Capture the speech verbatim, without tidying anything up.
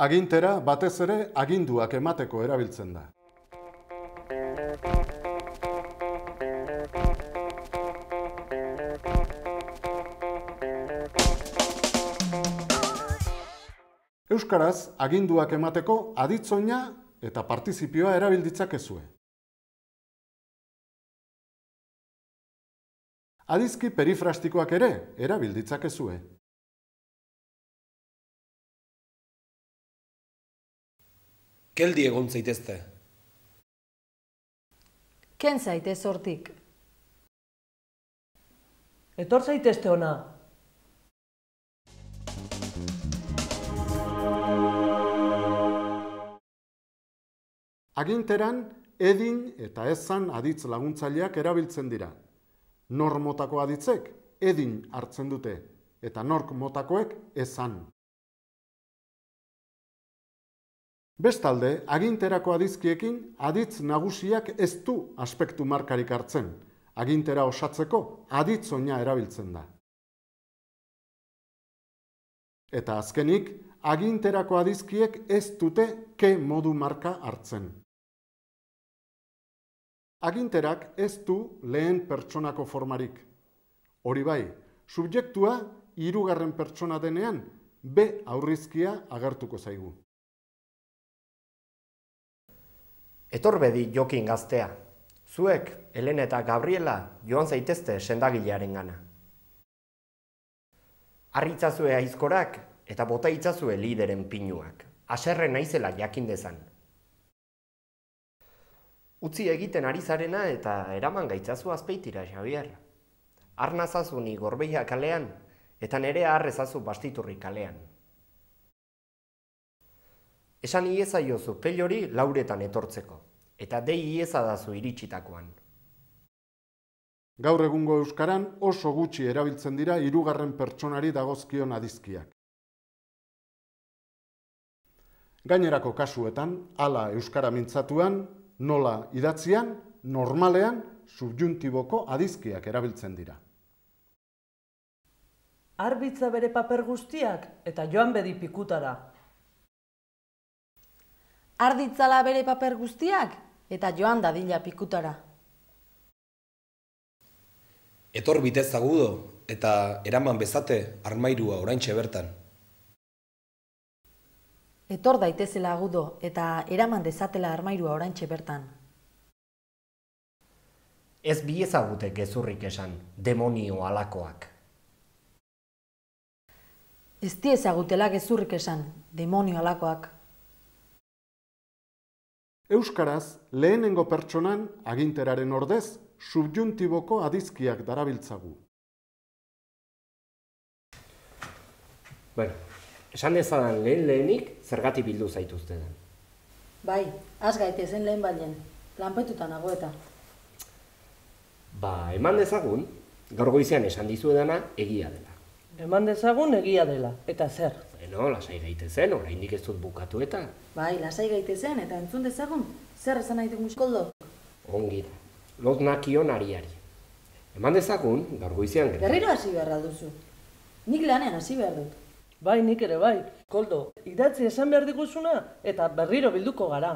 Agintera batez ere aginduak emateko erabiltzen da. Euskaraz, aginduak emateko aditzoina eta partizipioa erabil ditzakezue. Adizki perifrastikoak ere erabil ditzakezue. Geldi egon zaitezte. Ken zaitez hortik. Etor zaitezte ona. Aginteran, edin eta ezan aditz laguntzaileak erabiltzen dira. Nor motako aditzek edin hartzen dute, eta nork motakoek ezan. Bestalde, aginterako adizkiekin aditz nagusiak ez du aspektu markarik hartzen. Agintera osatzeko aditzoina erabiltzen da. Eta azkenik, aginterako adizkiek ez dute ke modu marka hartzen. Aginterak ez du lehen pertsonako formarik. Hori bai, subjektua hirugarren pertsona denean be aurrizkia agertuko zaigu. Etor bedi Jokin gaztea. Zuek, Helene eta Gabriela, joan zaitezte sendagilearen gana. Arritzazue aizkorak eta bota itzazue lideren pinuak. Haserre naizela jakin dezan. Utzi egiten ari zarena eta eraman gaitzazu azpeitira, Xabier. Arnazazu ni Gorbeia kalean eta nerea harrezazu Bastiturri kalean. Esan iezaiozu pelori lauretan etortzeko, eta dei iezadazu iritsitakoan. Gaur egungo euskaran oso gutxi erabiltzen dira hirugarren pertsonari dagozkion adizkiak. Gainerako kasuetan, hala euskara mintzatuan, nola idatzian, normalean, subjuntiboko adizkiak erabiltzen dira. Arbitza bere paper guztiak eta joan bedi pikutara. Arditzala bere paper guztiak eta joan dadila pikutara. Etor bitez agudo eta eraman bezate armairua oraintxe bertan. Etor daitezela agudo eta eraman dezatela armairua oraintxe bertan. Ez bi ezagute gezurrik esan, demonio alakoak. Ez di ezagutela gezurrik esan, demonio alakoak. Euskaraz, lehenengo pertsonan aginteraren ordez, subjuntiboko adizkiak darabiltzagu. Bueno, esan dezadan lehen lehenik zergatik bildu zaituzte den. Bai, az gaitezen lehen balen, lanpetuta nago eta. Ba, eman dezagun, gaur goizean esan dizuedana egia dela. Eman dezagun egia dela, eta zer? Beno, lasai gaitezen, oraindik ez dut bukatu eta. Bai, lasai gaitezen eta entzun dezagun, zer esan nahi dugu Koldo? Ongi da, lot nakion ariari. Eman dezagun, gaur goizean gertatu. Berriro hasi behar duzu. Nik lanean hasi behar dut. Bai, nik ere bai. Koldo, idatzi esan behar diguzuna eta berriro bilduko gara.